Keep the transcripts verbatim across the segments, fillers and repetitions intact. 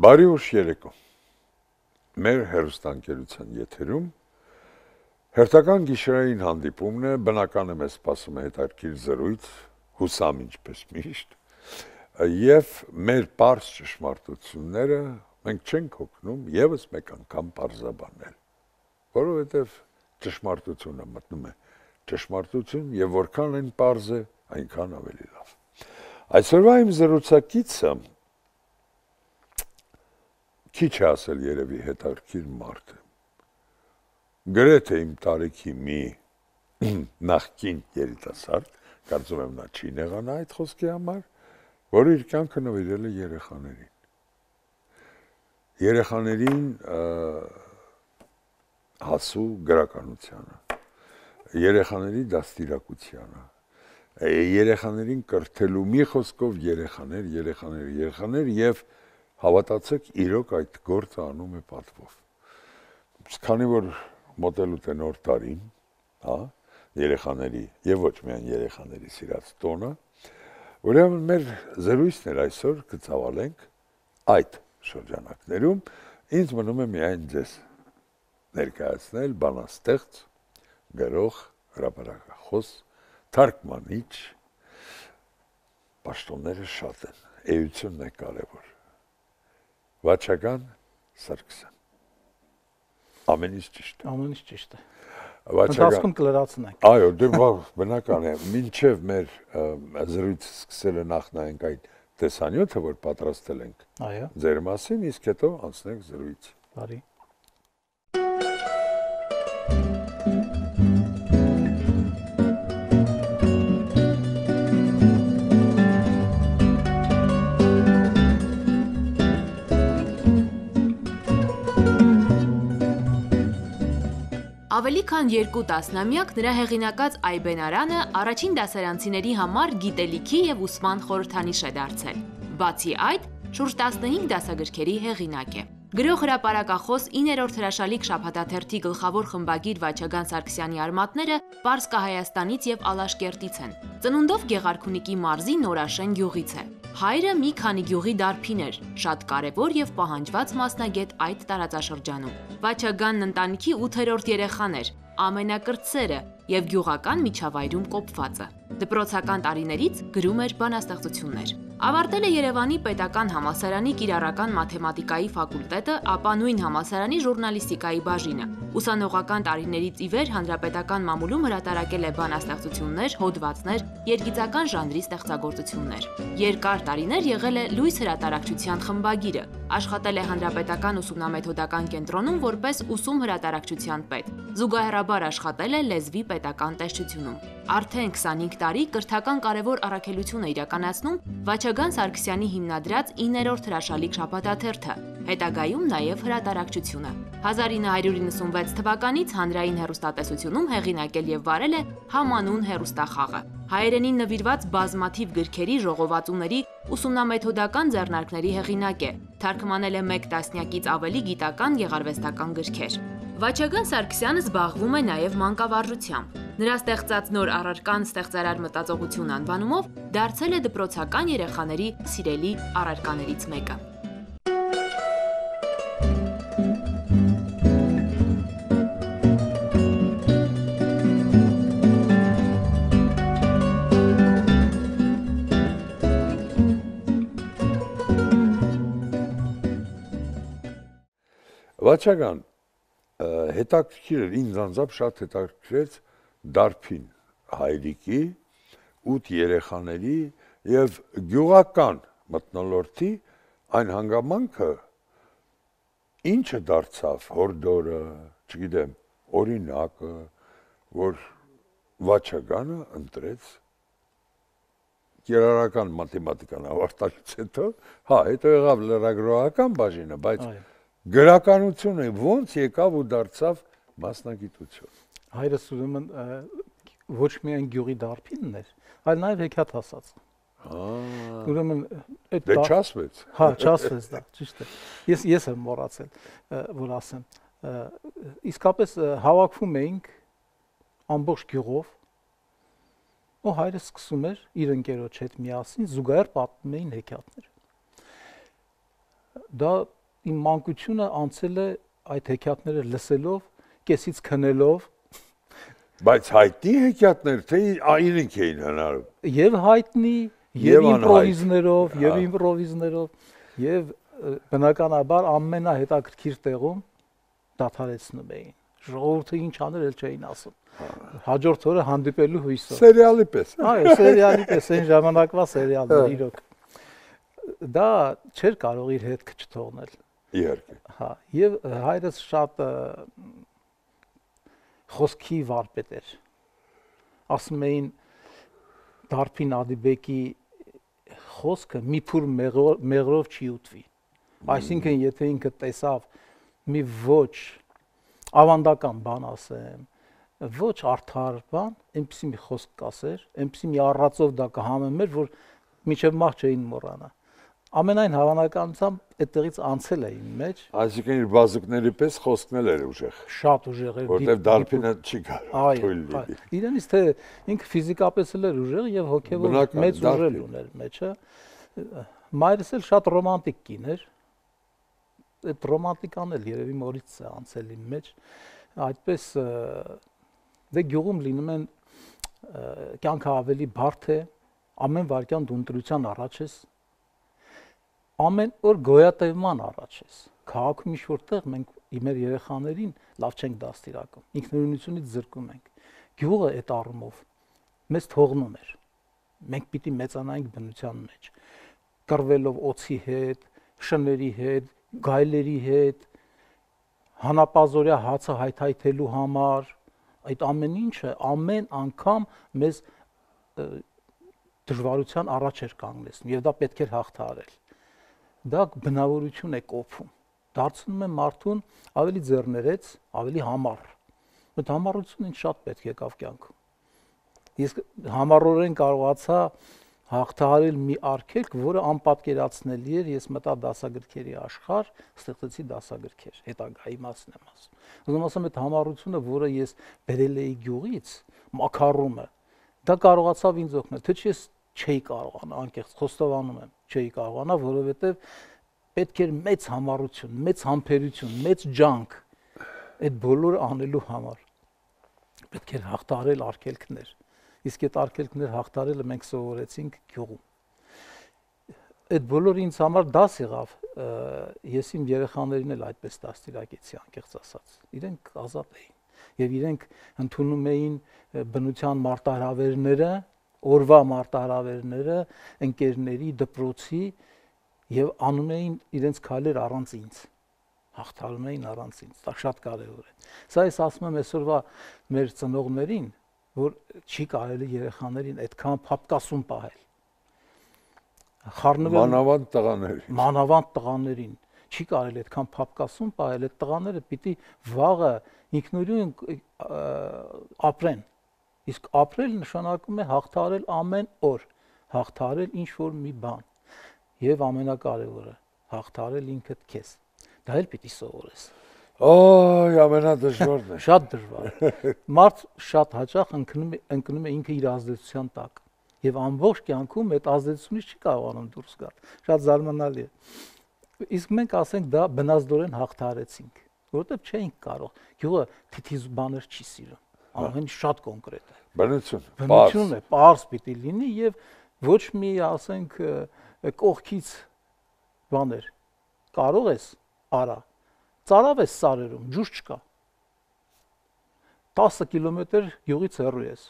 Բարի ուշ երեկո։ Մեր հեռուստաընկերության եթերում հերթական գիշերային հանդիպումն է, բնական է մեզ սպասում է հետաքրքիր զրույց, հուսամ ինչպես միշտ, եւ մեր պարզ ճշմարտությունները մենք չենք հոգնում եւս մեկ անգամ պարզաբանել, որովհետեւ ճշմարտությունը մտնում է ճշմարտություն եւ որքան այն պարզ է, այնքան ավելի լավ։ Այսօրվա իմ զրուցակիցը Քիչ է ասել երևի հետաքրքիր մարդ է։ Գրեթե իմ տարիքի մի նախկին երիտասարդ, կարծում եմ նա չի նեղանա այդ խոսքի համար, որը իր կյանքը նվիրել է երեխաներին։ Երեխաներին հասու գրականությանը, երեխաների դաստիարակությանը, երեխաներին կրթելու մի խոսքով երեխաներ, երեխաներ, երեխաներ եւ Հավատացեք, իրոք այդ գործը անում է պատվով։ Քանի որ մոտելուտ է նոր տարին, հա, երեխաների եւ ոչ միայն երեխաների սիրած տոնը, ուրեմն մեր զրույցն էր այսօր կցավալենք այդ շրջանակներում, ինձ մնում է միայն ձեզ ներկայացնել բանաստեղծ, գրող, հրապարակախոս, թարգմանիչ, պաշտոնները շատ են, էությունն է կարևոր։ Վաչագան Սարգսյան։ Ամեն ինչ ճիշտ է։ Ամեն ինչ ճիշտ է։ Վաչագան։ Ընթացքում կլրացնենք։ Այո, դե բնական է։ Մինչև մեր զրույցը սկսելը նախ նայենք այն տեսանյութը, որ պատրաստել ենք։ Այո։ Ձեր մասին, իսկ հետո անցնենք զրույց։ Բարի։ Ավելի քան երկու տասնամյակ նրա հեղինակած Այբենարանը առաջին դասարանցիների համար գիտելիքի եւ ուսման խորհրդանիշ է դարձել։ Բացի այդ, շուրջ տասնհինգ դասագրքերի հեղինակ է։ Գրող հրապարակախոս իններորդ հրաշալիք շաբաթաթերթի գլխավոր խմբագիր Վաչագան Սարգսյանի արմատները Պարսկահայաստանից եւ Ալաշկերտից են։ Ծնունդով Գեղարքունիքի մարզի Նորաշեն գյուղից է։ Հայրը մի քանի գյուղի դարբին էր, շատ կարևոր եւ պահանջված մասնագետ այդ տարածաշրջանում։ Վաչագանն ընտանիքի ութերորդ երեխան էր, ամենակրտսերը եւ գյուղական միջավայրում կոփվածը։ Դպրոցական տարիներից գրում էր բանաստեղծություններ։ Ավարտել է Երևանի Պետական համալսարանի կիրառական մաթեմատիկայի ֆակուլտետը, ապա նույն համալսարանի ժուրնալիստիկայի բաժինը։ Ուսանողական տարիներից ի վեր հանրապետական մամուլում հրատարակել է բանաստեղծություններ, հոդվածներ, երգիծական ժանրի ստեղծագործություններ։ Երկար տարիներ եղել է Լույս հրատարակչության խմբագիրը, աշխատել է Հանրապետական ուսումնամեթոդական կենտրոնում որպես ուսում հրատարակչության պետ։ Զուգահեռաբար աշխատել է Լեզվի պետական տեսչությունում։ Արդեն քսանհինգ տարի կրթական կարևոր առաքելություն է իրականացնում Վաչագան Սարգսյանի հիմնադրած իններորդ հրաշալիք շաբաթաթերթը, հետագայում նաև հրատարակչությունը։ հազար ինը հարյուր իննսունվեց թվականից հանրային հեռուստատեսությունում հեղինակել եւ վարել է Համանուն հեռուստախաղը։ Հայերենին նվիրված բազմաթիվ գրքերի, ժողովածուների, ուսումնամեթոդական ձեռնարկների հեղինակ է։ Թարգմանել է մեկ տասնյակից ավելի գիտական գեղարվեստական գրքեր։ Վաչագան Սարգսյանը զբաղվում է նաև մանկավարժությամբ։ Նրա ստեղծած նոր առարկան ստեղծարար մտածողություն անվանումով դարձել է դպրոցական երեխաների սիրելի առարկաներից մեկը։ Վաչագան, հետաքրքիր էր, ինձ անձամբ շատ հետաքրքրեց դարբին հայրիկի, ութ երեխաների եւ գյուղական մթնոլորտի այն հանգամանքը, ինչը դարձավ հորդորը, չգիտեմ, օրինակը, որ Վաչագանը ընտրեց կիրառական մաթեմատիկան ավարտելուց հետո, հա, հետո եղավ լրագրողական բաժինը, բայց գրականությունը ոնց եկավ ու դարձավ մասնագիտություն։ Հայրս ուրեմն ոչ միայն գյուղի դարբինն էր, այլ նաև հեքիաթ ասած։ Ուրեմն այդ դե չասվեց։ Հա, չասվեց դա, ճիշտ է։ Ես ես եմ մոռացել, որ ասեմ։ Իսկապես հավաքվում էինք ամբողջ գյուղով, ու հայրս սկսում էր իր ընկերոջ հետ միասին զուգահեռ պատմում էին հեքիաթներ։ դա իմ մանկությունը անցել է այդ հեքիաթները լսելով, կեսից քնելով, բայց հայտնի հեքիաթներ, թե իրենք էին հնարում։ Եվ հայտնի, եւ իմպրովիզներով, եւ իմպրովիզներով, եւ բնականաբար ամենահետաքրքիր տեղում դադարեցնում էին։ Ժողովուրդը ինչ աներ, էլ չէին ասում։ Հաջորդ օրը հանդիպելու հույսով։ Սերիալի պես։ Այո, սերիալի պես, այն ժամանակվա սերիալներ իրոք։ Դա չէր կարող իր հետքը չթողնել։ Իհարկե։ Հա, եւ հայրս շատ խոսքի վարպետ էր։ Ասում էին Դարփին Ադիբեկի խոսքը մի փուր մեղրով չի ուտվի։ Այսինքն եթե ինքը տեսավ մի ոչ ավանդական բան ասեմ, ոչ արդար բան, այնպեսի մի խոսք կասեր, այնպեսի մի առածով դա կհամեմեր, որ մինչև մահ չէին մոռանա։ Ամենայն հավանականությամբ այդտեղից անցել է իմ մեջ։ Այսինքն իր բազուկների պես խոսքն էլ էր ուժեղ։ Շատ ուժեղ էր։ Որտեվ Դարփինը չի կարող թույլ լինի։ Իրենից թե ինքը ֆիզիկապես էլ էր ուժեղ եւ հոգեվոր մեծ ուժեր ուներ մեջը։ Մայրս էլ շատ ռոմանտիկ կին էր։ Այդ ռոմանտիկան էլ երևի մորից է անցել իմ մեջ։ Այդպես դե գյուղում լինում են կյանքը ավելի բարդ է, ամեն վարքյան դու ընտրության առաջ ես, ամեն օր գոյատևման առաջ ես։ Քաղաքում ինչ որտեղ մենք մեր երեխաներին լավ չենք դաստիարակում, ինքնուրույնությունից զրկում ենք։ Գյուղը այդ առումով մեզ թողնում էր։ Մենք պիտի մեծանայինք բնության մեջ, կռվելով օձի հետ, շների հետ, գայլերի հետ, հանապազորյա հացը հայթայթելու համար, այդ ամեն ինչը ամեն անգամ մեզ դժվարության առաջ էր կանգնեցնում եւ դա պետք էր հաղթահարել։ Դա բնավորություն է կոփում, դարձնում է մարդուն ավելի ձեռներեց, ավելի համառ։ Այդ համառությունը ինձ շատ պետք եկավ կյանքում։ Ես համառորեն կարողացա հաղթահարել մի արգելք, որը անպատկերացնելի էր, ես մտա դասագրքերի աշխարհ, ստեղծեցի դասագրքեր, հետագայի մասն եմ ասում։ Ուզում ասեմ, այդ համառությունը, որը ես բերել էի գյուղից, մակարումը, դա կարողացավ ինձ օգնել, թե ես չէի կարողանա, անկեղծ խոստովանում եմ, չէի կարողանա, որովհետև պետք էր մեծ համառություն, մեծ համբերություն, մեծ ջանք այդ բոլորը անելու համար։ Պետք էր հաղթահարել արգելքներ։ Իսկ այդ արգելքներ հաղթարելը մենք սովորեցինք գյուղում։ Այդ բոլորը ինձ համար դաս եղավ, ես իմ երեխաներին էլ այդպես դաստիարակեցի, անկեղծ ասած։ Իրենք ազատ էին եւ իրենք ընդունում էին բնության մարտահրավերները, օրվա մարտահրավերները, ընկերների, դպրոցի եւ անում էին իրենց քայլեր առանց ինձ։ Հաղթարում էին առանց ինձ։ Դա շատ կարեւոր է։ Սա ես ասում եմ այսօրվա մեր ծնողներին, որ չի կարելի երեխաներին այդքան փապկասում պահել։ Խառնվել մանավանդ տղաներին։ Մանավանդ տղաներին չի կարելի այդքան փապկասում պահել, այդ տղաները պիտի վաղը ինքնուրույն ապրեն։ Իսկ ապրել նշանակում է հաղթահարել ամեն օր, հաղթահարել ինչ որ մի բան։ Եվ ամենակարևորը, հաղթահարել ինքդ քեզ։ Դա էլ պիտի սովորես։ Օй, ամենադժվարն է։ Շատ դժվար։ Մարդ շատ հաճախ ընկնում է ընկնում է ինքը իր ազդեցության տակ եւ ամբողջ կյանքում այդ ազդեցությունից չի կարողանում դուրս գալ։ Շատ զարմանալի է։ Իսկ մենք ասենք դա բնազդորեն հաղթահարեցինք, որովհետեւ չէինք կարող։ Գյուղը թիթիզ բաներ չի սիրում։ Ամեն շատ կոնկրետ է։ Բնություն։ Բնությունն է, պարզ պիտի լինի եւ ոչ մի, ասենք, կողքից բաներ։ Կարող ես արա։ Ծարավ ես սարերում, ջուր չկա։ տասը կիլոմետր գյուղից հեռու ես։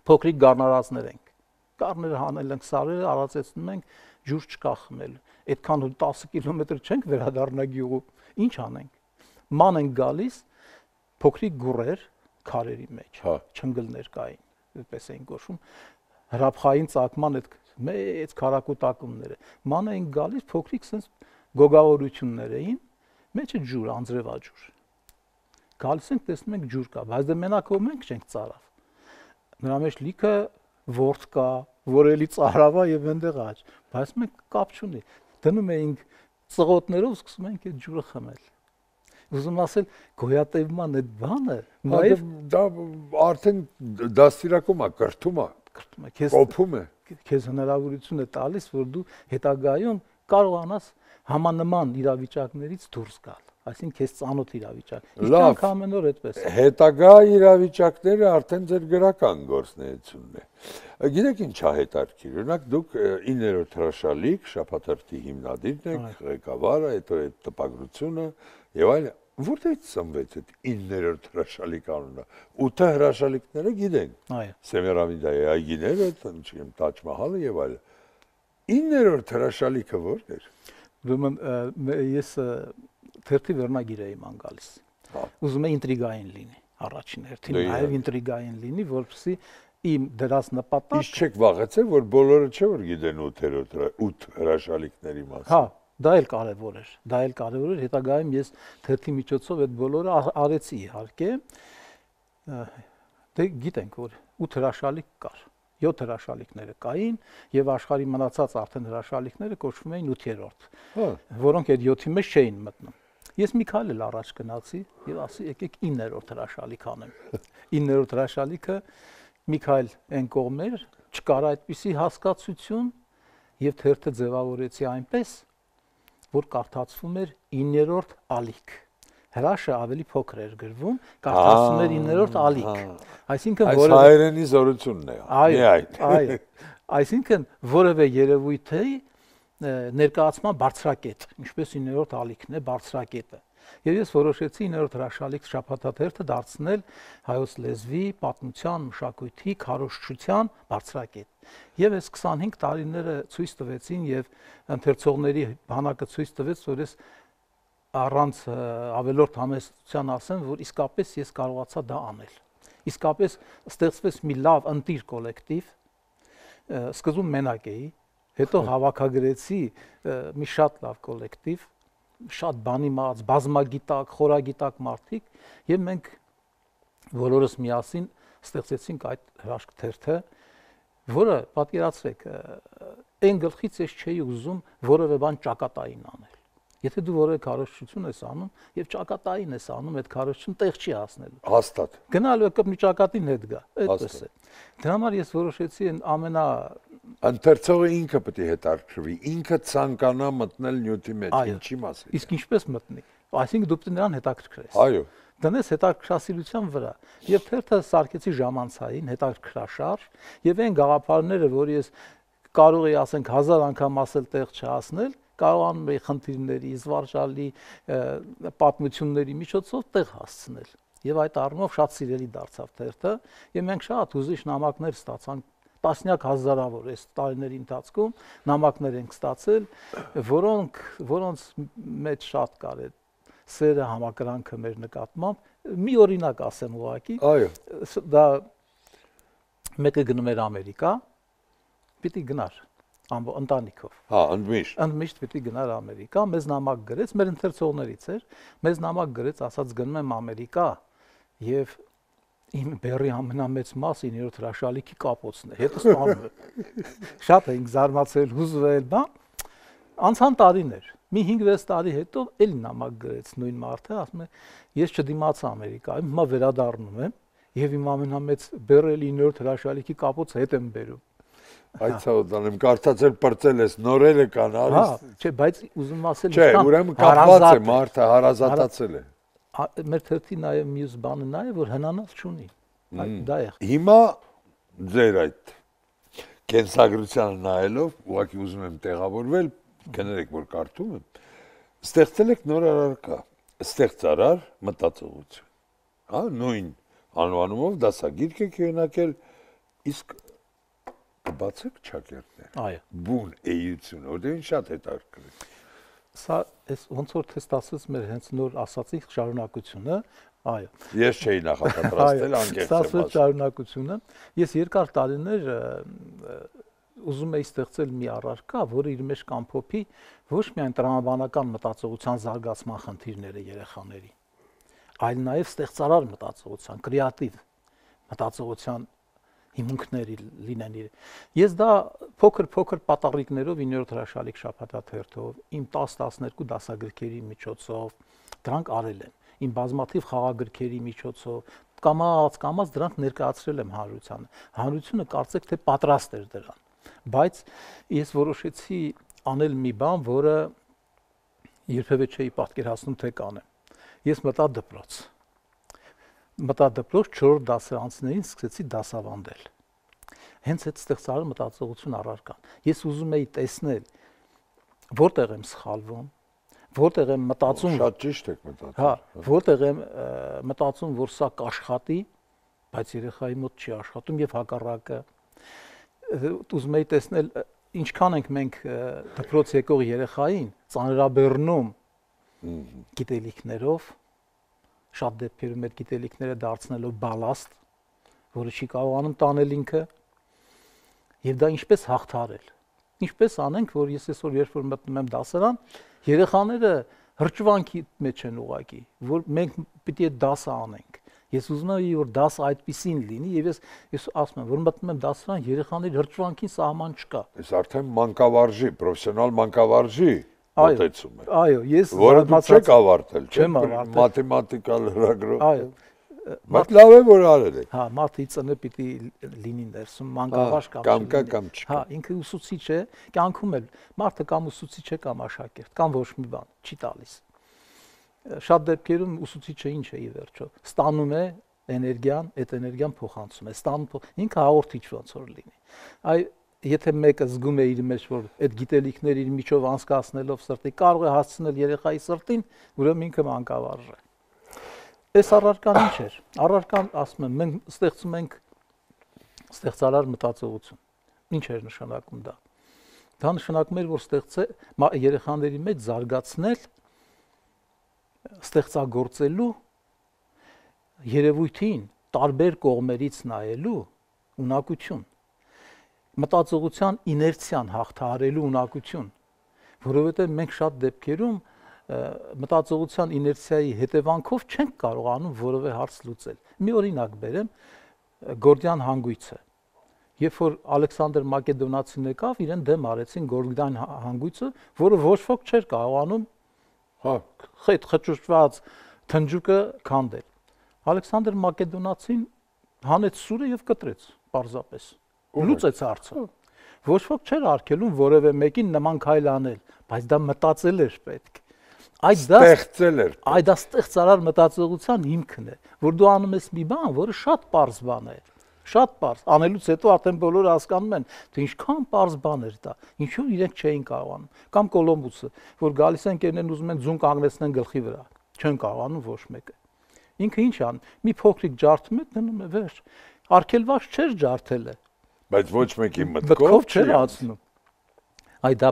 Փոքրիկ գառնարածներ ենք։ Գառները հանել ենք, սարերը արածեցնում ենք, ջուր չկա խմելու։ Այդքան տասը կիլոմետր չենք վերադառնա գյուղում։ Ինչ անենք։ Ման ենք գալիս, փոքրիկ գուրեր քարերի մեջ, չնգլներ կային, այդպես էին կոչվում, հրափխային ծագման այդ մեծ քարակուտակումները։ Ման էին գալիս, փոքրիկ sense գոգավորություններ էին, մեջը ջուր, անձրևաջուր։ Գալիս ենք, տեսնում ենք ջուր կա, բայց դե մենակ ով մենք չենք ծարավ։ Նրա մեջ լիքը ворտ կա, որ էլի ծարավա եւ այնտեղ աճ, բայց մենք կապ չունի։ Դնում էինք ծղոտներով, սկսում ենք այդ ջուրը խմել։ Ուզում ասել գոյատևման այդ բանը, նաև դա արդեն դաստիարակում է, կրթում է, կրթում է, քեզ կոփում է, քեզ հնարավորություն է տալիս, որ դու հետագայում կարողանաս համանման իրավիճակներից դուրս գալ, այսինքն քեզ ծանոթ իրավիճակ։ Իսկ ամեն օր այդպես է։ Հետագա իրավիճակները արդեն ձեր գրական գործունեությունն է։ Գիտեք ինչ է հետաքրքիր, օրինակ դուք իններորդ հրաշալիք, շաբաթաթերթի հիմնադիրն եք, ղեկավարը, հետո այդ տպագրությունը եւ այլն։ Որտե՞ղ ծնվեց այդ իններորդ հրաշալիք անունը։ ութ հրաշալիքները գիտեն։ Այո։ Սեմիրամիդայի այգիները, չգիտեմ, Տաջ Մահալը եւ այլն։ իններորդ հրաշալիքը ո՞րն էր։ Ուրեմն ես թերթի վերնագիր էի ման գալիս։ Ուզում եմ ինտրիգային լինի, առաջին հերթին, նաև ինտրիգային լինի, որպեսզի իմ դրած նպատակ։ Իսկ չեք վախեցել, որ բոլորը չէ որ գիտեն ութ հրաշալիքների մասին։ Հա, դա էլ կարևոր էր, դա էլ կարևոր էր, հետագայում ես թերթի միջոցով այդ բոլորը արեցի իհարկե։ Դե գիտենք որ ութ հրաշալիք կար, յոթ հրաշալիքները կային եւ աշխարհի մնացած արդեն հրաշալիքները կոչվում էին ութերորդ, որոնք այդ յոթի մեջ չէին մտնում։ Ես մի քայլ էլ առաջ գնացի եւ ասի եկեք իններորդ հրաշալիք անեմ։ իններորդ հրաշալիքը մի քայլ այն կողմեր չկար այդպիսի հասկացություն եւ թերթը ձևավորեցի այնպես, որ կարդացվում էր իններորդ ալիք։ Հրաշը ավելի փոքր էր գրվում, կարդացվում էր իններորդ ալիք։ Այսինքն որը այս հայերենի զորությունն է։ Այո, այո։ Այսինքն որևէ երևույթի ներկայացման բարձրակետ, ինչպես իններորդ ալիքն է բարձրակետը։ Եվ ես որոշեցի իններորդ հրաշալիք շաբաթաթերթը դարձնել հայոց լեզվի, պատմության, մշակույթի, քարոզչության բարձրակետ։ Եվ այս քսանհինգ տարիները ցույց տվեցին եւ ընթերցողների բանակը ցույց տվեց, որ ես առանց ավելորդ համեստության ասեմ, որ իսկապես ես կարողացա դա անել։ Իսկապես ստեղծվեց մի լավ ընտիր կոլեկտիվ, սկզբում մենակ էի, հետո հավաքագրեցի մի շատ լավ կոլեկտիվ, շատ բանի մած, բազմագիտակ, խորագիտակ մարդիկ, եւ մենք բոլորս միասին ստեղծեցինք այդ հրաշք թերթը, որը պատկերացրեք, այն գլխից ես չէի ուզում որևէ բան ճակատային անել։ Եթե դու որևէ քարոզչություն ես անում եւ ճակատային ես անում, այդ քարոզչությունը տեղ չի հասնելու։ Հաստատ։ Գնալու է կապ ճակատին հետ գա, այդպես է։ Դրա համար ես որոշեցի այն ամենա ընթերցողը ինքը պետք է հետաքրքրվի, ինքը ցանկանա մտնել նյութի մեջ, ինչի մասին։ Իսկ ինչպես մտնի։ Այսինքն դու պետք է նրան հետաքրքրես։ Այո։ Դնես հետաքրքրասիրության վրա։ Եվ թերթը սարքեցի ժամանցային, հետաքրքրաշարժ, եւ այն գաղափարները, որ ես կարող էի ասենք հազար անգամ ասել տեղ չհասնել, կարողանում էի խնդիրների, զվարճալի պատմությունների միջոցով տեղ հասցնել։ Եվ այդ առումով շատ սիրելի դարձավ թերթը, եւ մենք շատ ուզիչ նամակներ ստացանք, տասնյակ հազարավոր այս տարիների ընթացքում նամակներ ենք ստացել, որոնք որոնց մեջ շատ կար է սերը, համակրանքը մեր նկատմամբ։ Մի օրինակ ասեմ ուղղակի։ Այո։ Դա մեկը գնում էր Ամերիկա, պիտի գնար ամբո ընտանիքով։ Հա, ընդմիշտ։ Ընդմիշտ պիտի գնար Ամերիկա, մեզ նամակ գրեց, մեր ընթերցողներից էր, մեզ նամակ գրեց, ասաց գնում եմ Ամերիկա եւ իմ բերի ամենամեծ մասը իններորդ հրաշալիքի կապոցն է, հետո ստանում է։ Շատ էինք զարմացել, հուզվել, բա։ Անցան տարիներ, մի հինգ-վեց տարի հետո էլի նամակ գրեց նույն մարդը, ասում է, ես չդիմացա Ամերիկայում, հիմա վերադառնում եմ եւ իմ ամենամեծ բերել իններորդ հրաշալիքի կապոցը հետ եմ բերում։ Այդ ցավոդանեմ կարծացել պրծել ես, նորերը կան, արի։ Հա, չէ, բայց ուզում ասել չէ, ուրեմն կապված է, մարդը հարազատացել է։ Մեր թերթի նաեւ մյուս բանը նա է, որ հնանալ չունի։ Դա է։ Հիմա ձեր այդ կենսագրությանը նայելով, ուղղակի ուզում եմ տեղավորվել, կներեք, որ կարդում եմ, ստեղծել եք նոր առարկա, ստեղծարար մտածողություն։ Հա, նույն անվանումով դասագիրք եք հեղինակել, իսկ կբացեք ճակերտներ։ Այո։ Բուն էությունը, որտեղ շատ հետաքրքիր։ Սա էս ոնց որ թեստացած մեր հենց նոր ասացի շարունակությունը, այո։ Ես չէի նախապատրաստել անկեղծ։ Սա սա շարունակությունը։ Ես երկար տարիներ ուզում էի ստեղծել մի առարկա, որը իր մեջ կամփոփի ոչ միայն տրամաբանական մտածողության զարգացման խնդիրները երեխաների, այլ նաև ստեղծարար մտածողության, կրեատիվ մտածողության հիմունքների լինեն իր։ Ես դա փոքր-փոքր պատառիկներով իններորդ հրաշալիք շաբաթաթերթով, իմ տասը-տասներկու դասագրքերի միջոցով դրանք արել եմ, իմ բազմաթիվ խաղագրքերի միջոցով, կամաց կամաց դրանք ներկայացրել եմ հանրությանը։ Հանրությունը կարծեք թե պատրաստ էր դրան, բայց ես որոշեցի անել մի բան, որը երբևէ չէի պատկերացնում թե կանեմ։ Ես մտա դպրոց։ Մտա դպրոց չորրորդ դասարանցիներին սկսեցի դասավանդել։ Հենց այդ ստեղծարար մտածողություն առարկան։ Ես ուզում էի տեսնել որտեղ եմ սխալվում, որտեղ եմ մտածում շատ ճիշտ եք մտածում։ Հա, որտեղ եմ մտածում, որ սա կաշխատի, բայց երեխայի մոտ չի աշխատում եւ հակառակը։ Ուզում էի տեսնել ինչքան ենք մենք դպրոց եկող երեխային ծանրաբեռնում գիտելիքներով, շատ դեպքերում այդ գիտելիքները դարձնելով բալաստ, որը չի կարողանում տանել ինքը, եւ դա ինչպես հաղթարել։ Ինչպես անենք, որ ես այսօր երբ որ մտնում եմ դասարան, երեխաները հրճվանքի մեջ են ուղակի, որ մենք պիտի այդ դասը անենք։ Ես ուզում եմ, որ դասը այդպեսին լինի, եւ ես ես ասում եմ, որ մտնում եմ դասարան, երեխաների հրճվանքին սահման չկա։ Այս արդեն մանկավարժի, պրոֆեսիոնալ մանկավարժի մոտեցում է։ Այո, ես որը դուք չեք ավարտել, չեմ ավարտել մաթեմատիկալ լրագրող։ Այո, բայց լավ է որ արել եք։ Հա, մարդը իծնը պիտի լինի ներսում, մանկավարժ կամ կամ կա կամ չկա։ Հա, ինքը ուսուցիչ է, կյանքում էլ մարդը կամ ուսուցիչ է կամ աշակերտ, կամ ոչ մի բան չի տալիս։ Շատ դեպքերում ուսուցիչը ինչ է ի վերջո, ստանում է էներգիան, այդ էներգիան փոխանցում է, ստանում ինքը հաղորդիչ ոնց որ լինի։ Այ եթե մեկը զգում է իր մեջ, որ այդ գիտելիքները իր միջով անցկացնելով սրտի կարող է հասցնել երեխայի սրտին, ուրեմն ինքը մանկավարժ է։ Այս առարկան ինչ էր։ Առարկան, ասում եմ, մենք ստեղծում ենք ստեղծարար մտածողություն։ Ինչ էր նշանակում դա։ Դա նշանակում էր, որ ստեղծե երեխաների մեջ զարգացնել ստեղծագործելու երևույթին տարբեր կողմերից նայելու ունակություն, մտածողության իներցիան հաղթահարելու ունակություն, որովհետև մենք շատ դեպքերում մտածողության իներցիայի հետևանքով չենք կարողանում որևէ հարց լուծել։ Մի օրինակ բերեմ, Գորդիան հանգույցը։ Երբ որ Ալեքսանդր Մակեդոնացին եկավ, իրեն դեմ արեցին Գորդիան հանգույցը, որը ոչ ոք չէր կարողանում հա խետ խճուճված թնջուկը քանդել։ Ալեքսանդր Մակեդոնացին հանեց սուրը եւ կտրեց, պարզապես։ Լուծեց հարցը։ Ոչ ոք չէր արգելում որևէ մեկին նման քայլ անել, բայց դա մտածել էր պետք։ Այդ դա ստեղծել էր։ Այդ դա ստեղծարար մտածողության հիմքն է, որ դու անում ես մի բան, որը շատ պարզ բան է։ Շատ պարզ։ Անելուց հետո արդեն բոլորը հասկանում են, թե ինչքան պարզ բան էր դա։ Ինչու իրենք չէին կարողանում։ Կամ Կոլոմբոսը, որ գալիս են կերնեն ուզում են ձուն կանգնեցնեն գլխի վրա։ Չեն կարողանում ոչ մեկը։ Ինքը ինչ ան, մի փոքրիկ ջարդում է, դնում է վերջ։ Արգելված չէր ջարդելը։ Բայց ոչ մեկի մտքով չէր անցնում։ Այ դա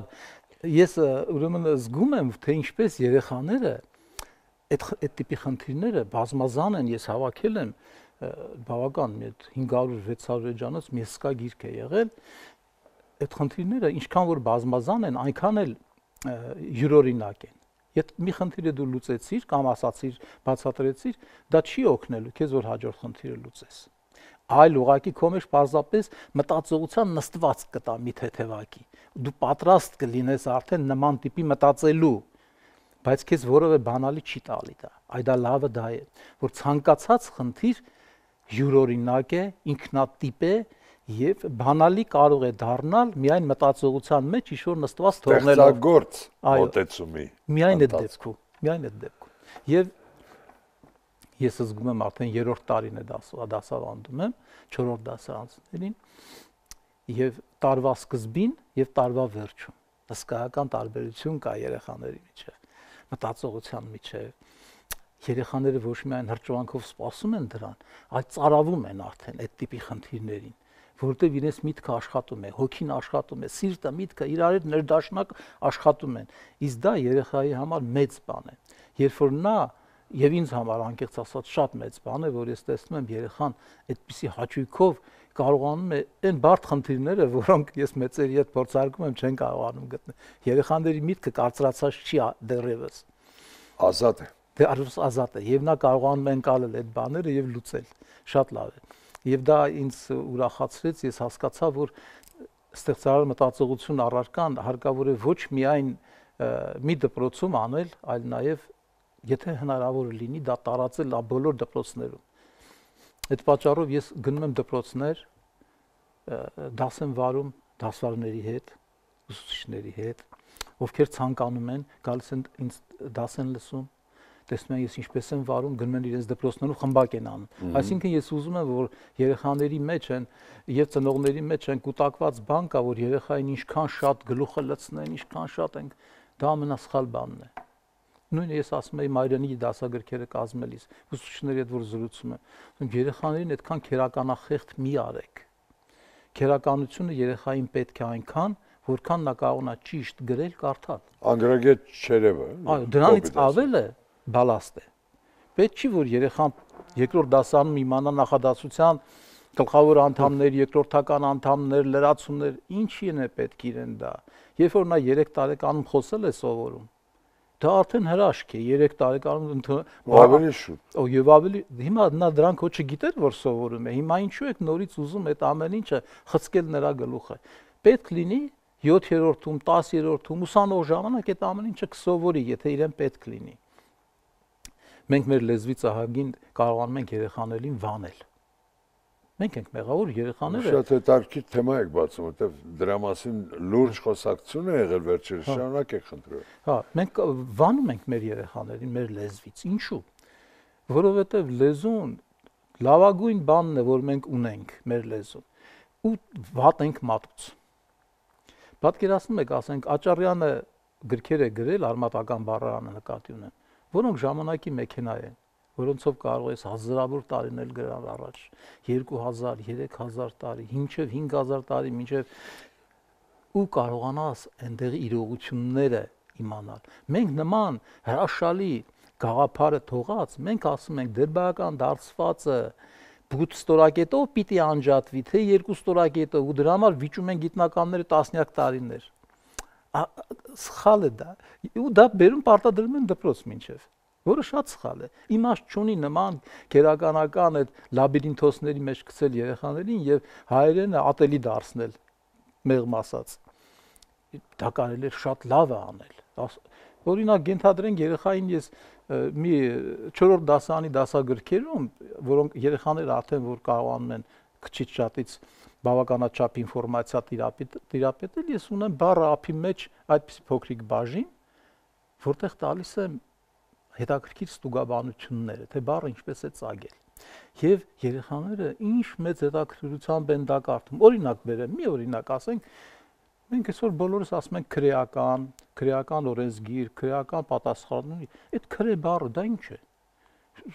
ես ուրեմն զգում եմ, թե ինչպես երեխաները այդ այդ տիպի խնդիրները բազմազան են, ես հավաքել եմ բավական մի հինգ հարյուր վեց հարյուր էջանոց մի հսկա գիրք է եղել, այդ խնդիրները ինչքան որ բազմազան են, այնքան էլ յուրօրինակ են։ Եթե մի խնդիրը դու լուծեցիր կամ ասացիր, բացատրեցիր, դա չի օգնելու քեզ որ հաջորդ խնդիրը լուծես։ Այլ ուղղակի քո մեջ պարզապես մտածողության նստված կտա մի թեթևակի։ Դու պատրաստ կլինես արդեն նման տիպի մտածելու, բայց քեզ որևէ բանալի չի տալի դա։ Այ դա լավը դա է, որ ցանկացած խնդիր յուրօրինակ է, ինքնատիպ է եւ բանալի կարող է դառնալ միայն մտածողության մեջ ինչ-որ նստված թողնելով։ Ստեղծագործ մոտեցումի։ Միայն այդ դեպքում, միայն այդ դեպքում։ Եվ ես զգում եմ արդեն երրորդ տարին է դասավանդում եմ, չորրորդ դասարանցիներին եւ տարվա սկզբին եւ տարվա վերջում հսկայական տարբերություն կա երեխաների միջեւ, մտածողության միջեւ։ Երեխաները ոչ միայն հրճվանքով սպասում են դրան, այլ ծարավում են արդեն այդ տիպի խնդիրներին, որովհետև իրենց միտքը աշխատում է, հոգին աշխատում է, սիրտը, միտքը իրար ներդաշնակ աշխատում են։ Իսկ դա երեխայի համար մեծ բան է։ Երբ որ նա եւ ինձ համար անկեղծ ասած շատ մեծ բան է, որ ես տեսնում եմ երեխան այդպիսի հաճույքով կարողանում է այն բարդ խնդիրները, որոնք ես մեծերի հետ փորձարկում եմ, չեն կարողանում գտնել։ Երեխաների միտքը կարծրացած չի դեռևս։ Ազատ է։ Դե ազատ է եւ նա կարողանում է ընկալել այդ բաները եւ լուծել։ Շատ լավ է։ Եվ դա ինձ ուրախացրեց, ես հասկացա, որ ստեղծարար մտածողություն առարկան հարկավոր է ոչ միայն մի դպրոցում անել, այլ նաեւ եթե հնարավոր լինի դա տարածել բոլոր դպրոցներում։ Այդ պատճառով ես գնում եմ դպրոցներ, դաս եմ վարում դասվարների հետ, ուսուցիչների հետ, ովքեր ցանկանում են, գալիս են ինձ դաս են լսում, տեսնում են ես ինչպես եմ վարում, գնում են իրենց դպրոցներում խմբակ են անում։ Այսինքն ես ուզում եմ, որ երեխաների մեջ են եւ ծնողների մեջ են կուտակված բան կա, որ երեխային ինչքան շատ գլուխը լցնեն, ինչքան շատ են, դա ամենասխալ բանն է։ Նույնը ես ասում եի Մայրենի դասագրքերը կազմելիս, ուսուցիչների հետ որ զրուցում եմ, երեխաներին այդքան քերականախեղդ մի արեք։ Քերականությունը երեխային պետք է այնքան, որքան նա կարողանա ճիշտ գրել, կարդալ։ Անգրագետ չերևը։ Այո, դրանից ավելը բալաստ է։ Պետք չի որ երեխան երկրորդ դասանում իմանա նախադասության գլխավոր անդամներ, երկրորդական անդամներ, լրացումներ, ինչի է պետք իրեն դա։ Երբ որ նա երեք տարեկանում խոսել է սովորում, դա արդեն հրաշք է, երեք տարեկանում ավելի շուտ։ Օ եւ ավելի հիմա նա դրանք ոչ չգիտեր որ սովորում է։ Հիմա ինչու եք նորից ուզում այդ ամեն ինչը խցկել նրա գլուխը։ Պետք լինի յոթերորդում, տասերորդում ուսանող ժամանակ այդ ամեն ինչը կսովորի, եթե իրեն պետք լինի։ Մենք մեր լեզվից ահագին կարողանում ենք երեխաներին վանել։ Մենք ենք մեղավոր երեխաները։ Շատ հետաքրքիր թեմա եք բացում, որտեղ դրա մասին լուրջ խոսակցություն է եղել վերջերս, շարունակեք խնդրում։ Հա, մենք վանում ենք մեր երեխաներին մեր լեզվից։ Ինչու՞։ Որովհետև լեզուն լավագույն բանն է, որ մենք ունենք մեր լեզուն։ Ու վատ ենք մատուց։ Պատկերացնում եք, ասենք Աճարյանը գրքեր է գրել արմատական բառարանը նկատի ունեմ, որոնք ժամանակի մեքենա են, որոնցով կարող ես հազարավոր տարիներ գրալ առաջ, երկու հազար, երեք հազար տարի, մինչև հինգ հազար տարի, մինչև ու կարողանաս այնտեղի իրողությունները իմանալ։ Մենք նման հրաշալի գաղափարը թողած, մենք ասում ենք դերբայական դարձվածը բութ ստորակետով պիտի անջատվի, թե երկու ստորակետով, ու դրա համար վիճում են գիտնականները տասնյակ տարիներ։ Սխալ է դա։ Ու դա բերում պարտադրում են դպրոց մինչև, որը շատ սխալ է։ Իմաստ չունի նման քերականական այդ լաբիրինթոսների մեջ գցել երեխաներին եւ հայերենը ատելի դարձնել, մեղմ ասած։ Դա կարելի է շատ լավ է անել։ Օրինակ ենթադրենք երեխային ես մի չորրորդ դասարանի դասագրքերում, որոնք երեխաները արդեն որ կարողանում են քչից շատից բավականաչափ ինֆորմացիա տիրապետել, ես ունեմ բառը ափի մեջ այդպիսի փոքրիկ բաժին, որտեղ տալիս եմ հետաքրքիր ստուգաբանությունները, թե բառը ինչպես է ծագել։ Եվ երեխաները ինչ մեծ հետաքրքրությամբ են դա կարդում։ Օրինակ բերեմ, մի օրինակ ասենք, մենք այսօր բոլորս ասում ենք քրեական, քրեական օրենսգիր, քրեական պատասխան, այդ քրե բառը դա ինչ է։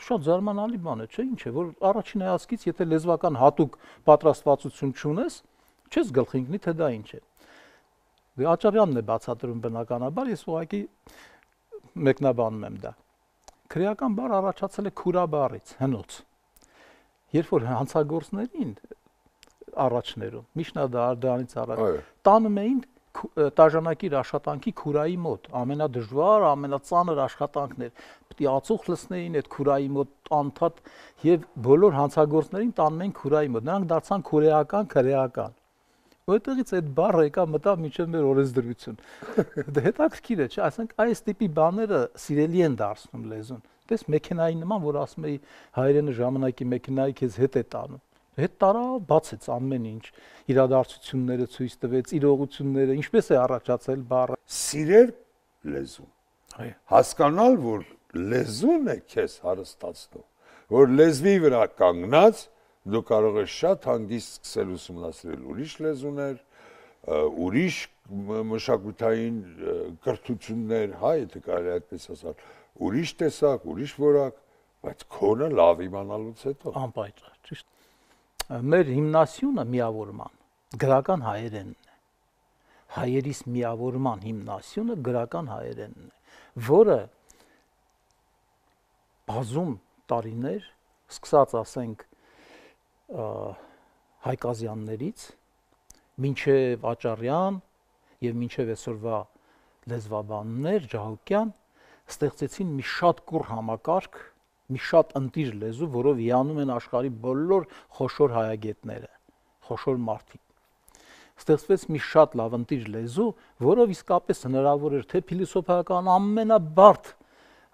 Շատ զարմանալի բան է, չէ՞, ինչ է, որ առաջին հայացքից եթե լեզվական հատուկ պատրաստվածություն չունես, չես գլխի ընկնի, թե դա ինչ է։ Դե Աճարյանն է բացատրում բնականաբար, ես ուղղակի մեկնաբանում եմ դա։ Քրեական բառը առաջացել է քուրա բառից, հնոց։ Երբ որ հանցագործներին առաջներում, միջնադար դրանից առաջ տանում էին տաժանակիր աշխատանքի քուրայի մոտ, ամենադժվար, ամենածանր աշխատանքներ։ Պետք է ածուխ լցնեին այդ քուրայի մոտ անդադ եւ բոլոր հանցագործներին տանում էին քուրայի մոտ։ Նրանք դարձան քուրեական, քրեական։ Որտեղից այդ բառը եկա մտավ մինչև մեր օրենսդրություն։ Դա հետաքրքիր է, չէ՞, ասենք այս տիպի բաները սիրելի են դարձնում լեզուն։ Տես մեքենայի նման, որ ասում էի հայերենը ժամանակի մեքենայի քեզ հետ է տանում։ Հետ տարա բացեց ամեն ինչ, իրադարձությունները ցույց տվեց, իրողությունները, ինչպես է առաջացել բառը։ Սիրել լեզուն։ Այո։ Հասկանալ, որ լեզուն է քեզ հարստացնում, որ լեզվի վրա կանգնած դու կարող ես շատ հանգիստ սկսել ուսումնասիրել ուրիշ լեզուներ, ուրիշ մշակութային կրթություններ, հա, եթե կարելի այդպես ասել, ուրիշ տեսակ, ուրիշ որակ, բայց քոնը լավ իմանալուց հետո։ Անպայծառ, ճիշտ։ Մեր հիմնասյունը միավորման գրական հայերենն է։ Հայերիս միավորման հիմնասյունը գրական հայերենն է, որը բազում տարիներ, սկսած ասենք Հայկազյաններից, մինչև Աճարյան եւ մինչև այսօրվա լեզվաբաններ Ջահուկյան ստեղծեցին մի շատ կուռ համակարգ, մի շատ ընտիր լեզու, որով հիանում են աշխարհի բոլոր խոշոր հայագետները, խոշոր մարդիկ։ Ստեղծվեց մի շատ լավ ընտիր լեզու, որով իսկապես հնարավոր էր թե փիլիսոփայական ամենաբարդ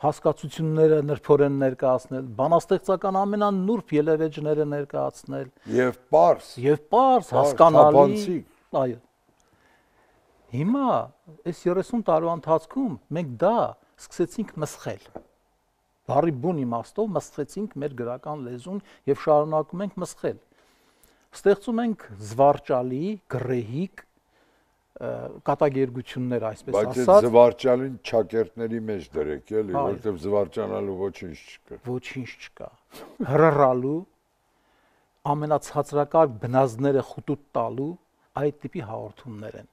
հասկացությունները նրբորեն ներկայացնել, բանաստեղծական ամենանուրբ ելևէջները ներկայացնել եւ պարզ, եւ պարզ, հասկանալի, այո։ Հիմա այս երեսուն տարվա ընթացքում մենք դա սկսեցինք մսխել։ Բառի բուն իմաստով մսխեցինք մեր գրական լեզուն եւ շարունակում ենք մսխել։ Ստեղծում ենք զվարճալի, գրեհիկ կատակերգություններ, այսպես ասած։ Բայց այդ զվարճալին ճակերտների մեջ դրեք, էլի, որովհետեւ զվարճանալու ոչինչ չկա։ Ոչինչ չկա։ Հրռալու ամենացածրակարգ բնազդները խուտուտ տալու այդ տիպի հաղորդումներ են։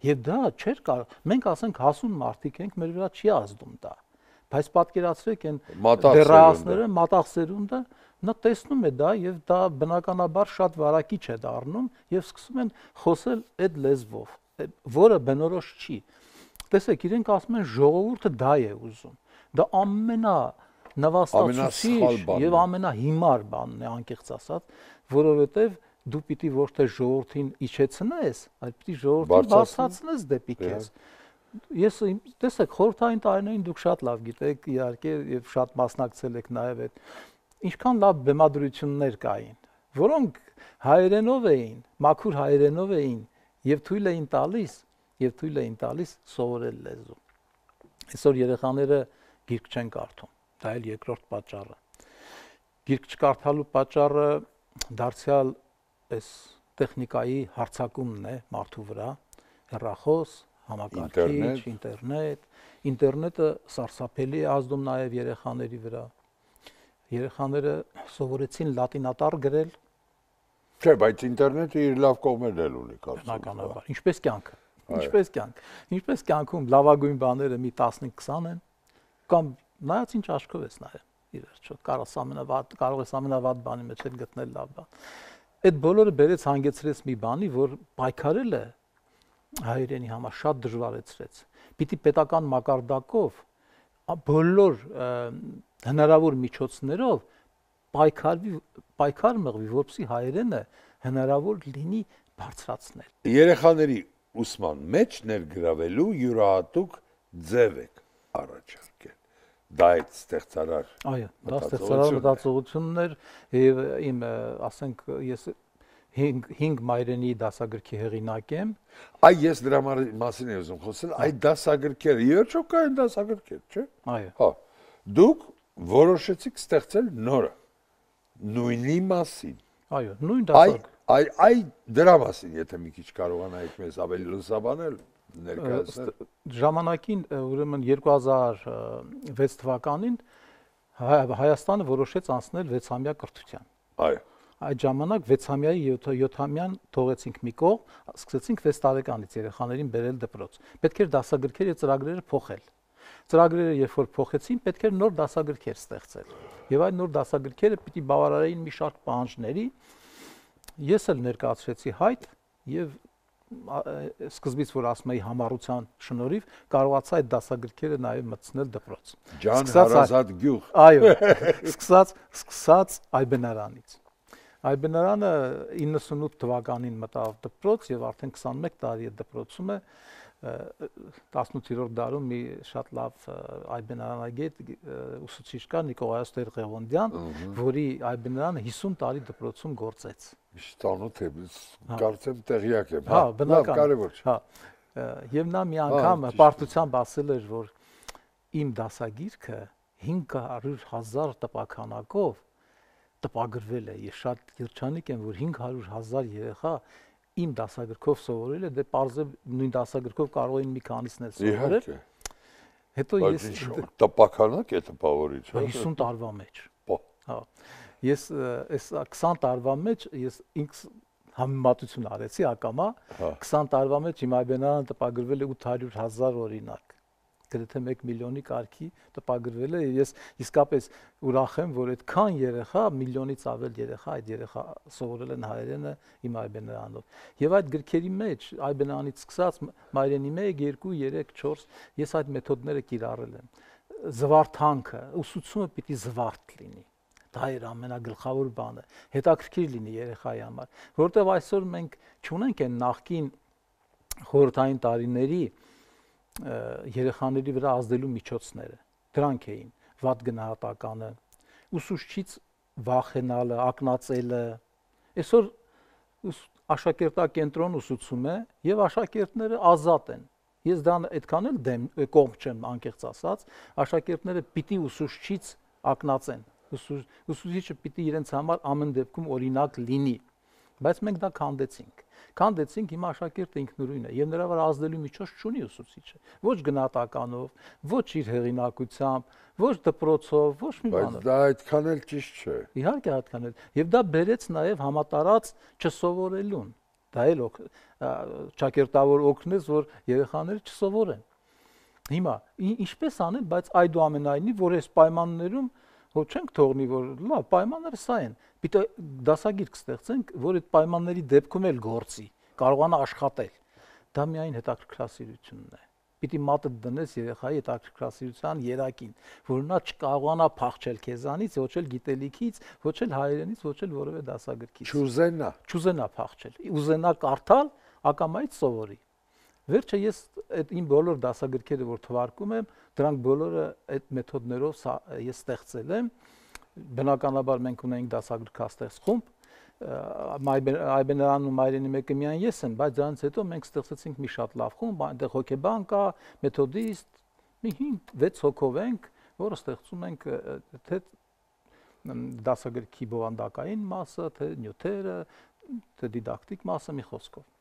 Եվ դա չէր կարող, մենք ասենք հասուն մարդիկ ենք, մեր վրա չի ազդում դա։ Բայց պատկերացրեք այն դեռահասները, մատաղ սերունդը, նա տեսնում է դա եւ դա բնականաբար շատ վարակիչ է դառնում եւ սկսում են խոսել այդ լեզվով, որը բնորոշ չի։ Տեսեք, իրենք ասում են ժողովուրդը դա է ուզում։ Դա ամենա նվաստացուցիչ եւ ամենահիմար բանն է, անկեղծ ասած, որովհետեւ դու պիտի ոչ թե ժողովրդին իջեցնես, այլ պիտի ժողովրդին բարձրացնես դեպի քեզ։ Ես տեսեք, խորհրդային տարիներին դուք շատ լավ գիտեք, իհարկե, եւ շատ մասնակցել եք նաեւ այդ ինչքան լավ բեմադրություններ կային, որոնք հայերենով էին, մաքուր հայերենով էին եւ թույլ էին տալիս, եւ թույլ էին տալիս սովորել լեզու։ Այսօր երեխաները գիրք չեն կարդում, դա էլ երկրորդ պատճառը։ Գիրք չկարդալու պատճառը դարձյալ այս տեխնիկայի հարձակումն է մարդու վրա, հեռախոս, համակարգիչ, ինտերնետ, ինտերնետը սարսափելի է ազդում նաև երեխաների վրա։ Երեխաները սովորեցին լատինատառ գրել։ Չէ, բայց ինտերնետը իր լավ կողմերն էլ ունի, կարծում եմ։ Բնականաբար, ինչպես կյանքը, ինչպես կյանք, ինչպես կյանքում լավագույն բաները մի տասնհինգ քսան են, կամ նայած ինչ աչքով ես նայում, ի վերջո, կարող ես ամենավատ, կարող ես ամենավատ բանի մեջ էլ գտնել լավ բան։ Այդ բոլորը բերեց հանգեցրեց մի բանի, որ պայքարելը հայերենի համար շատ դժվարեցրեց։ Պիտի պետական մակարդակով բոլոր հնարավոր միջոցներով պայքարվի, պայքար մղվի, որպեսզի հայերենը հնարավոր լինի բարձրացնել։ Երեխաների ուսման մեջ ներգրավելու յուրահատուկ ձև եք առաջարկել։ Դա այդ ստեղծարար։ Այո, դա ստեղծարար մտածողությունն էր եւ իմ, ասենք, ես հինգ մայրենի դասագրքի հեղինակ եմ։ Այ ես դրա մասին եմ ուզում խոսել, այդ դասագրքերը, իհարկե կային դասագրքեր, չէ՞։ Այո։ Հա։ Դուք որոշեցիք ստեղծել նորը, նույնի մասին։ Այո, նույն դասագրք։ Այ այ դրա մասին, եթե մի քիչ կարողանայիք մեզ ավելի լուսաբանել, ներկայացնել։ Ժամանակին, ուրեմն երկու հազար վեց թվականին Հայաստանը որոշեց անցնել վեցամյա կրթության։ Այո։ Այդ ժամանակ վեցամյայի յոթամյան թողեցինք մի կողմ, սկսեցինք վեց տարեկանից երեխաներին բերել դպրոց։ Պետք էր դասագրքերը եւ ծրագրերը փոխել։ Ծրագրերը երբ որ փոխեցին, պետք էր նոր դասագրքեր ստեղծել։ Եվ այդ նոր դասագրքերը պիտի բավարարեին մի շարք պահանջների։ Ես էլ ներկայացրեցի հայտ եւ սկզբից որ ասում էի համառության շնորհիվ կարողացա այդ դասագրքերը նաեւ մտցնել դպրոց։ Ջան հարազատ գյուղ։ Այո, սկսած սկսած Այբենարանից։ Այբենարանը իննսունութ թվականին մտավ դպրոց եւ արդեն քսանմեկ տարի է դպրոցում է։ տասնութերորդ դարում մի շատ լավ Այբենարանագետ ուսուցիչ կա Նիկողայոս Տեր-Ղևոնդյան, որի Այբենարանը հիսուն տարի դպրոցում գործեց։ Ստանոթ է, կարծեմ տեղյակ եմ։ Հա, բնական։ Կարևոր չէ։ Հա։ Եվ նա մի անգամ պարտությամբ ասել էր, որ իմ դասագիրքը հինգ հարյուր հազար տպաքանակով տպագրվել է։ Ես շատ երջանիկ եմ, որ հինգ հարյուր հազար երեխա իմ դասագրքով սովորել է, դե պարզ է նույն դասագրքով կարող էին մի քանիսն էլ սովորել։ Հետո ես տպականակ է տպավորիչ, հա։ հիսուն տարվա մեջ։ Հա։ Ես այս քսան տարվա մեջ ես ինքս համեմատություն արեցի ակամա, քսան տարվա մեջ իմ Այբենարանը տպագրվել է ութ հարյուր հազար օրինակ։ Գրեթե մեկ միլիոնի կարգի տպագրվել է, ես իսկապես ուրախ եմ, որ այդքան երեխա, միլիոնից ավել երեխա, այդ երեխա սովորել են հայերենը իմ Այբենարանով։ Եվ այդ գրքերի մեջ Այբենարանից սկսած մայրենի մեկ, երկու, երեք, չորս, ես այդ մեթոդները կիրառել եմ։ Զվարթանքը, ուսուցումը պիտի զվարթ լինի։ Դա էր ամենագլխավոր բանը, հետաքրքիր լինի երեխայի համար, որովհետև այսօր մենք չունենք այն նախկին խորհրդային տարիների երեխաների վրա ազդելու միջոցները։ Դրանք էին վատ գնահատականը, ուսուցչից վախենալը, ակնածելը։ Այսօր աշակերտակենտրոն ուսուցում է եւ աշակերտները ազատ են։ Ես դա այդքան էլ դեմ կողմ չեմ անկեղծ ասած, աշակերտները պիտի ուսուցչից ակնածեն։ Ուսուցիչը պիտի իրենց համար ամեն դեպքում օրինակ լինի։ Բայց մենք դա քանդեցինք։ Քանդեցինք, հիմա աշակերտը ինքնուրույն է եւ նրա վրա ազդելու միջոց չունի ուսուցիչը։ Ոչ գնահատականով, ոչ իր հեղինակությամբ, ոչ դպրոցով, ոչ մի բանով։ Բայց դա այդքան էլ ճիշտ չէ։ Իհարկե այդքան էլ։ Եվ դա բերեց նաեւ համատարած չսովորելուն։ Դա էլ ճակերտավոր օգնեց, որ երեխաները չսովորեն։ Հիմա ինչպես անել, բայց այդուամենայնիվ, որ այս պայմաններում որ չենք թողնի, որ լավ պայմանները սա են։ Պիտի դասագիրք ստեղծենք, որ այդ պայմանների դեպքում էլ գործի, կարողանա աշխատել։ Դա միայն հետաքրքրասիրությունն է։ Պիտի մատը դնես երեխայի հետաքրքրասիրության երակին, որ նա չկարողանա փախչել քեզանից, ոչ էլ գիտելիքից, ոչ էլ հայերենից, ոչ էլ որևէ դասագրքից։ Չուզենա, չուզենա փախչել, ուզենա կարդալ, ակամայից սովորի։ Վերջը ես այդ իմ բոլոր դասագրքերը, որ թվարկում եմ, դրանք բոլորը այդ մեթոդներով ես ստեղծել եմ։ Բնականաբար մենք ունենք դասագրքաստեղծ խումբ, Այբեներանն ու Մայրենի մեկը միայն ես եմ, բայց դրանից հետո մենք ստեղծեցինք մի շատ լավ խումբ, այնտեղ հոգեբան կա, մեթոդիստ, մի հինգ վեց հոգով ենք, որը ստեղծում ենք թե դասագրքի բովանդակային մասը, թե նյութերը, թե դիդակտիկ մասը, մի խոսքով։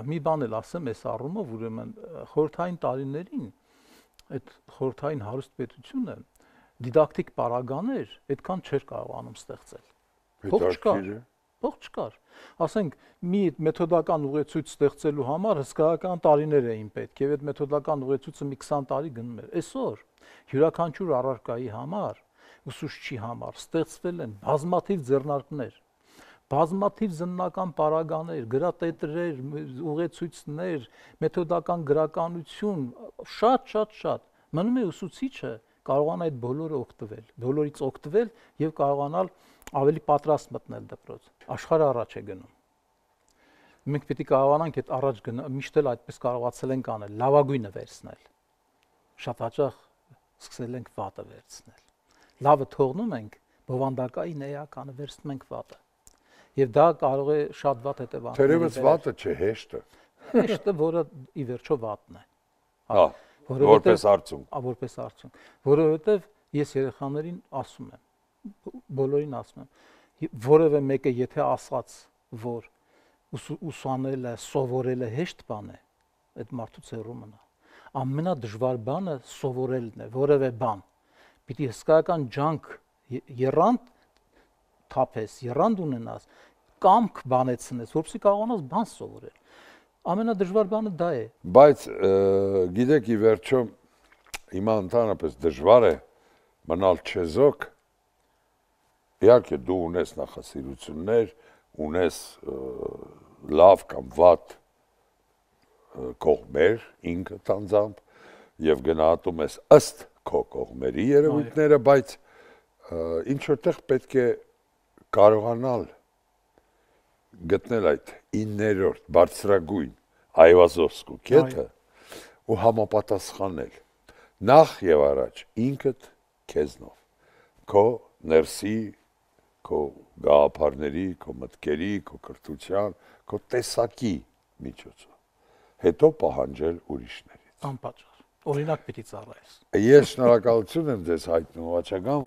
Մի բան էլ ասեմ այս առումով, ուրեմն խորհրդային տարիներին այդ խորհրդային հարուստ պետությունը դիդակտիկ պարագաներ այդքան չէր կարողանում ստեղծել։ Փող չկար։ Փող չկար։ Ասենք մի մեթոդական ուղեցույց ստեղծելու համար հսկայական տարիներ էին պետք, եւ այդ մեթոդական ուղեցույցը մի քսան տարի գնում էր։ Այսօր յուրաքանչյուր առարկայի համար, ուսուցչի համար ստեղծվել են բազմաթիվ ձեռնարկներ, բազմաթիվ զննական պարագաներ, գրատետրեր, ուղեցույցներ, մեթոդական գրականություն, շատ շատ շատ։ Մնում է ուսուցիչը կարողանա այդ բոլորը օգտվել, բոլորից օգտվել եւ կարողանալ ավելի պատրաստ մտնել դպրոց։ Աշխարհը առաջ է գնում։ Մենք պետք է կարողանանք այդ առաջ գնալ, միշտ էլ այդպես կարողացել ենք անել, լավագույնը վերցնել։ Շատ հաճախ սկսել ենք վատը վերցնել։ Լավը թողնում ենք, բովանդակային էականը վերցնում ենք վատը։ Եվ դա կարող է շատ վատ հետևանքներ։ Թերևս վատը չէ, հեշտը։ Հեշտը, որը ի վերջո վատն է։ Հա, որպես արդյունք։ Որպես արդյունք, որովհետև ես երեխաներին ասում եմ, բոլորին ասում եմ, որևէ մեկը եթե ասած, որ ուսանելը, սովորելը հեշտ բան է, այդ մարդուց հեռու մնա։ Ամենադժվար բանը սովորելն է, որևէ բան։ Պիտի հսկայական ջանք եռանդ թափես, եռանդ ունենաս, կամք բանեցնես, որպեսզի կարողանաս բան սովորել։ Ամենադժվար բանը դա է։ Բայց գիտեք, ի վերջո հիմա ընդհանրապես դժվար է մնալ չեզոք։ Իհարկե դու ունես նախասիրություններ, ունես լավ կամ վատ կողմեր ինքդ անձամբ եւ գնահատում ես ըստ քո կողմերի երևույթները, բայց ինչ որտեղ պետք է կարողանալ գտնել այդ իններորդ բարձրագույն այվազովսկու կետը ու համապատասխանել նախ եւ առաջ ինքդ քեզնով, քո ներսի, քո գաղափարների, քո մտքերի, քո կրթության, քո տեսակի միջոցով, հետո պահանջել ուրիշներից։ Անպատճառ, օրինակ պիտի ծառայես։ Ես շնորհակալություն եմ ձեզ հայտնում, Վաչագան։